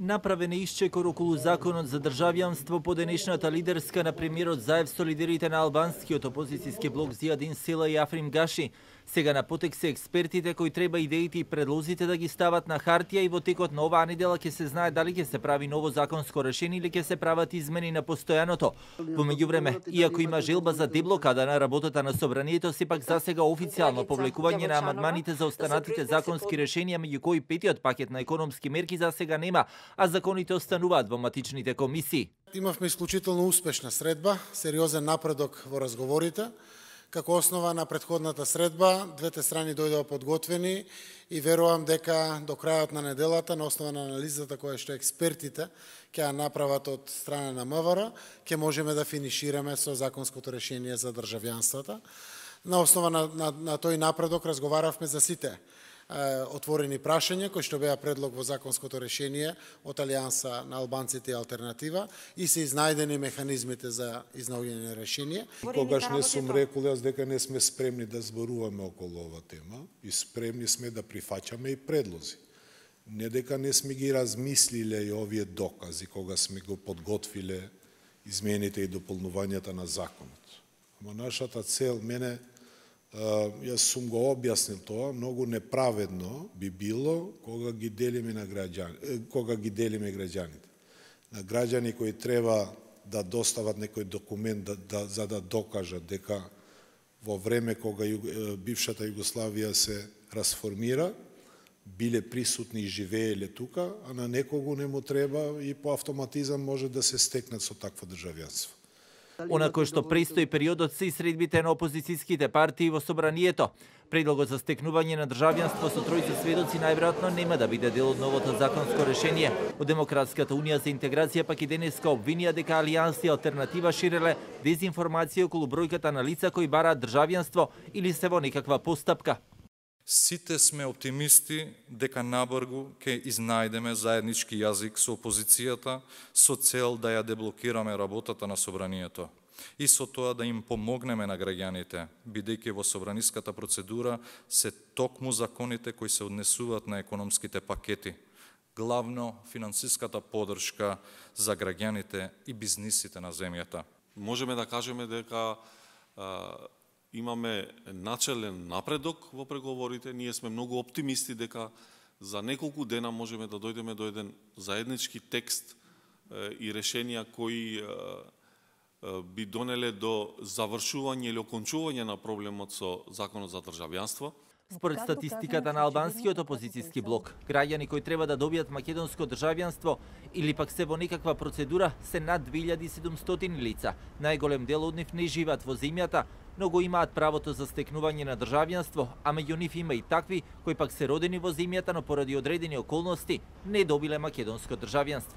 Направен е исчекор околу законот за државјанство по денешната лидерска на премиерот заев со лидерите на албанскиот опозицијски блок Зијадин Села и Африм Гаши. Сега на потек се експертите кои треба идеите и предлозите да ги стават на хартија и во текот на оваа недела ќе се знае дали ќе се прави ново законско решение или ќе се прават измени на постојаното. Во меѓувреме, иако има желба за деблокада на работата на собранието, сепак засега официјално повлекување на амандманите за останатите законски решенија, меѓу кои петиот пакет на економски мерки засега нема, а законите остануваат во матичните комисии. Имавме исклучително успешна средба, сериозен напредок во разговорите. Како основа на претходната средба, двете страни дојдоа подготвени и верувам дека до крајот на неделата, на основа на анализата која што експертите ќе ја направат од страна на МВР, ќе можеме да финишираме со законското решение за државјанството. На основа на тој напредок разговаравме за сите отворени прашања кои што беа предлог во законското решение од Алијанса на албанците и алтернатива и се изнајдени механизмите за изнаоѓање на решение. Когаш не сум рекол јас дека не сме спремни да зборуваме околу ова тема и спремни сме да прифаќаме и предлози. Не дека не сме ги размислиле и овие докази кога сме го подготвиле измените и дополнувањата на законот. Ама нашата цел, јас сум го објаснил тоа, многу неправедно би било кога ги делиме граѓаните. На граѓани кои треба да достават некој документ за да докажат дека во време кога бившата Југославија се расформира, биле присутни и живееле тука, а на некого не му треба и по автоматизам може да се стекнат со такво државјанство. Она кој што престои периодот се и средбите на опозицијските партии во собранието. Предлогот за стекнување на државјанство со тројца сведоци најверојатно нема да биде дел од новото законско решение. Од Демократската унија за интеграција пак и денеска обвинија дека Алијанс и алтернатива ширеле дезинформација околу бројката на лица кои бараат државјанство или се во некаква постапка. Сите сме оптимисти дека набрзо ќе изнајдеме заеднички јазик со опозицијата со цел да ја деблокираме работата на собранието и со тоа да им помогнеме на граѓаните, бидејќи во собраниската процедура се токму законите кои се однесуваат на економските пакети, главно финансиската поддршка за граѓаните и бизнисите на земјата. Можеме да кажеме дека имаме начелен напредок во преговорите. Ние сме многу оптимисти дека за неколку дена можеме да дојдеме до еден заеднички текст и решенија кои би донеле до завршување или окончување на проблемот со законот за државјанство. Според статистиката на албанскиот опозицијски блок, граѓани кои треба да добијат македонско државјанство или пак се во некаква процедура се над 2700 лица. Најголем дел од нив не живеат во земјата, но го имаат правото за стекнување на државјанство, а меѓу нив има и такви кои пак се родени во земјата, но поради одредени околности не добиле македонско државјанство.